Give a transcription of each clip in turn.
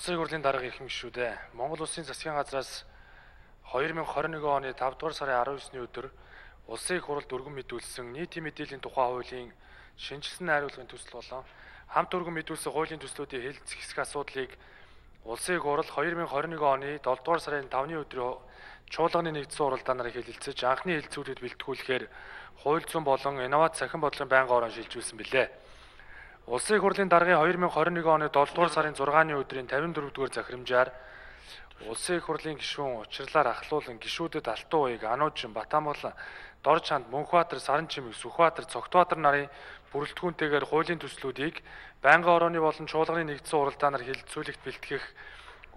Улсын хурлын дарга ирэх гишүүдээ Монгол Улсын засгийн газраас 2021 оны 5 дугаар сарын 19-ны өдөр Улсын их хурлд өргөн мэдүүлсэн нийтийн мэдээллийн тухай хуулийн шинжилсэн найруулгын төсөл болон хамт өргөн мэдүүлсэн хуулийн төслүүдийн хэлэлцэх хэсэг асуудлыг Улсын их хурл 2021 оны 7 дугаар сарын 5-ны өдрийн чуулганы нэгдсэн уралдаанаар хэлэлцэж анхны хэлэлцүүлэгт бэлтгүүлэхээр хууль зүйн болон инновац цахим бодлогын байнгын орон шилжүүлсэн билээ. Улсын их хурлын даргын 2021 оны 7 дугаар сарын 6-ны өдрийн 54 дугаар захирамжаар Улсын их хурлын гишүүн учрлаар ахлуулан гишүүдэд Алтан уяг, Ануужин, Батамгалан, Дорж ханд, Мөнхбаатар, Саранчимэг, Сүхбаатар, Цогтбаатар нарын бүрэлдэхүүнтэйгээр хуулийн төслүүдийг байнгын орооны болон чуулганы нэгдсэн уралдаанаар хэлэлцүүлэгт бэлтгэх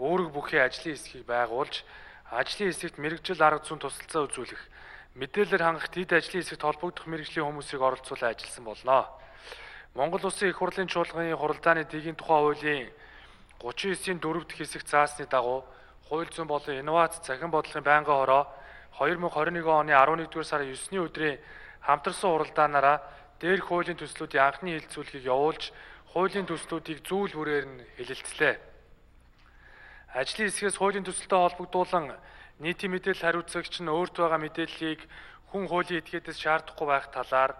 үүрэг бүхий ажлын хэсгийг байгуулж, ажлын хэсэгт мэргэжил арга зүйн тусалцаа үзүүлэх, мэдээлэлээр хангах тэд ажлын хэсэгт холбогдох мэргэжлийн хүмүүсийг оролцуулан ажилласан болно. Монгол Улсын их хурлын чуулганы хуралдааны дэгийн тухай хуулийн 39-ийн 4 дахь хэсэгт заасны дагуу хууль зүйн болон инновац цахим бодлогын байнгын хороо 2021 оны 11-р сарын 9-ний өдрийн хамтарсан уралдаанаараа дээрх хуулийн төслүүдийн анхны хэлэлцүүлгийг явуулж, хуулийн төслүүдийг зүүл бүрээр нь хэлэлцлээ. Ажлын хэсгээс хуулийн төсөлтэй холбогдуулан нийтийн мэдээлэл хариуцагч нь өөрт байгаа мэдээллийг хүн хуулийн этгээдээс шаардахгүй байх талаар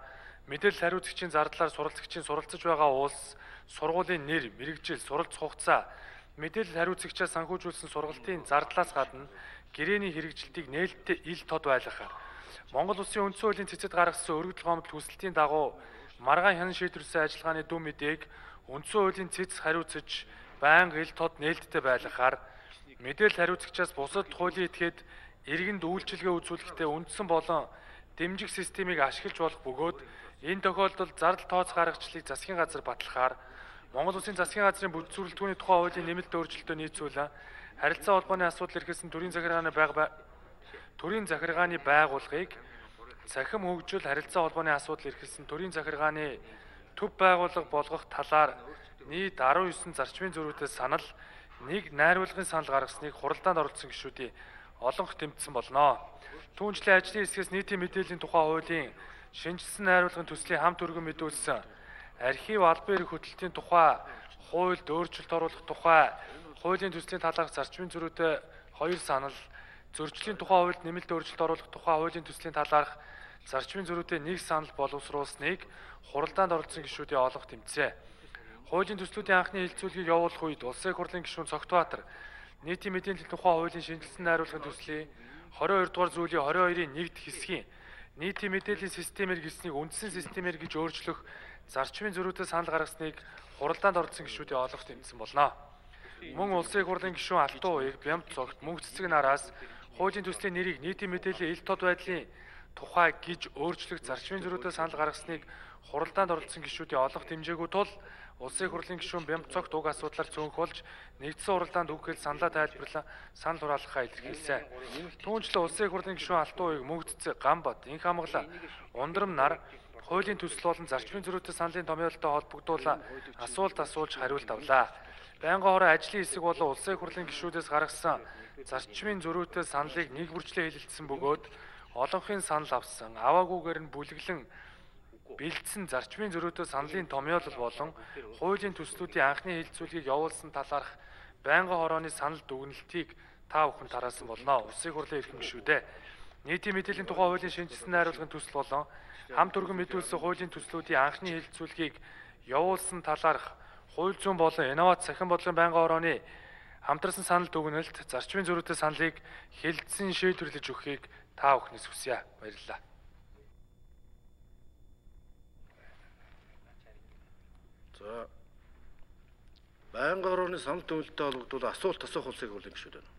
мэдээлэл хариуцагчийн зардлаар суралцагчийн суралцж байгаа улс, сургуулийн нэр, мэргэжил, суралц хугацаа, мэдээлэл хариуцагчаа санхүүжүүлсэн сургалтын зардлаас гадна гэрээний хэрэгжилтийг нээлттэй ил тод байлгахаар Монгол Улсын үндсэн хуулийн цэцэд гаргасан өргөдөл гомдол хүсэлтийн дагуу маргаан хянан шийдвэрсэн ажиллагааны дүн мэдээг үндсэн хуулийн цэц хариуцаж байнга ил тод нээлттэй байлгахаар мэдээлэл хариуцагчаас бусад хуулийн этгээд иргэнд үйлчилгээ үзүүлэхдээ үндсэн болон дэмжих системийг ашиглаж болох бөгөөд энэ тохиолдолд зардал тооц гаргачлалыг засгийн газар батлахаар Монгол Улсын засгийн газрын бүтэцүүлэлтүүний тухай хуулийн нэмэлт өөрчлөлтөө нийцүүлэн харилцаа холбооны асуудал эрхэлсэн төрийн захиргааны байгууллагыг цахим хөгжил харилцаа холбооны асуудал эрхэлсэн төрийн захиргааны төв байгууллага болгох талаар нийт 19 зарчмын зөрүүтэй санал, нэг найруулгын санал гаргасныг хуралдаанд оролцсон гишүүдийн олонх тэмцсэн болно. Түүнчлэн ажлын хэсгээс нийтийн мэдээллийн тухай хуулийн шинжилсэн найруулгын төслийн хамт өргөн мэдүүлсэн архив албан эрх хөтөлтийн тухай хуульд өөрчлөлт оруулах тухай хуулийн төслийн талаарх зарчмын зөрүүтэй 2 санал, зөрчлийн тухай хуульд нэмэлт өөрчлөлт оруулах тухай хуулийн төслийн талаарх зарчмын зөрүүтэй 1 санал боловсруулсныг хуралдаанд оролцсон гишүүдийн олонх тэмцээ. Хуулийн төслүүдийн анхны хэлэлцүүлгийг явуулах үед Улсын их хурлын гишүүн Цогтбаатар нийтийн мэдээллийн тухай хуулийн шинжилсэн найруулгын төслийн 22 дугаар зүйлийн 22-ийн 1 дахь хэсгийн нийтийн мэдээллийн системээр гэлснийг үндсэн системээр гэж өөрчлөх зарчмын зөрүүтэй санал гаргасныг хуралдаанд оролцсон гишүүдийн олонх тэмцсэн болно. Мөн Улсын их хурлын гишүүн Алтан уяг, Бямб цогт, Мөнх цэцэг нараас хуулийн төслийн нэрийг нийтийн мэдээллийн ил тод байдлын тухай гэж өөрчлөх зарчмын зөрүүтэй санал гаргасныг хуралдаанд оролцсон гишүүдийн олонх дэмжээгүй тул Улсын их хурлын гишүүн Бямб цогт уг асуудлаар цөөнх болж нэгдсэн уралдаанд үгхэл саналаа тайлбарлан санал хураалгахаа илэрхийлсэн. Түүнчлэн Улсын их хурлын гишүүн Алтан уяг, Мөнх цэцэг, Гамбат, Инх амгалан, Ундрам нар хуулийн төсөл болон зарчмын зөрүүтэй саналын томьёолтой холбогдуулан асуулт асууж хариулт авлаа. Байнгын хороо ажлын хэсэг болон Улсын их хурлын гишүүдээс гаргасан зарчмын зөрүүтэй саналыг нэг бүрчлээ хэлэлцсэн бөгөөд олонхын санал авсан, аваагүйгээр нь бүлэглэн бэлдсэн зарчмын зөрүүтэй саналын томьёолол болон хуулийн төслүүдийн анхны хэлэлцүүлгийг явуулсан талаарх байнгын хорооны санал дүгнэлтийг та бүхэн тараасан болно. Улсын их хурлын эрхэм гишүүдээ нийтийн мэдээллийн тухай хуулийн шинжилсэн найруулгын төсөл болон хамт өргөн мэдүүлсэн хуулийн төслүүдийн анхны хэлэлцүүлгийг явуулсан талаарх хууль зүйн болон инновац цахим бодлогын байнгын хорооны хамтарсан санал дүгнэлт, зарчмын зөрүүтэй саналыг хэлэлцэн шийдвэрлэж өгөхийг та бүхнээс хүсье. Баярлалаа. За, байнгын хорооны санал дүгнэлттэй холбогдуулан асуулт асуух Улсын их хурлын гишүүд байна.